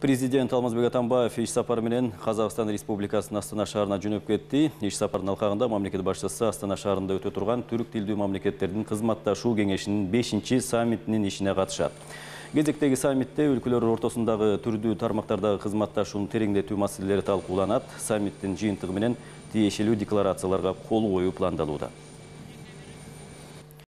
Президент Алмазбек Атамбаев иш сапары менен Казакстан Республикасынын Астана шаарына жөнөп кетти. Иш сапардын алкагында мамлекет башчысы Астана шаарында өтө турган түрк тилдүү мамлекеттердин кызматташуу кеңешинин 5-чи саммитинин ишине катышат. Кезектеги саммитте өлкөлөр ортосундагы түрдүү тармактардагы кызматташууну тереңдетүү маселелери талкууланат. Саммиттин жыйынтыгы менен тиешелүү декларацияларга кол коюу пландалууда.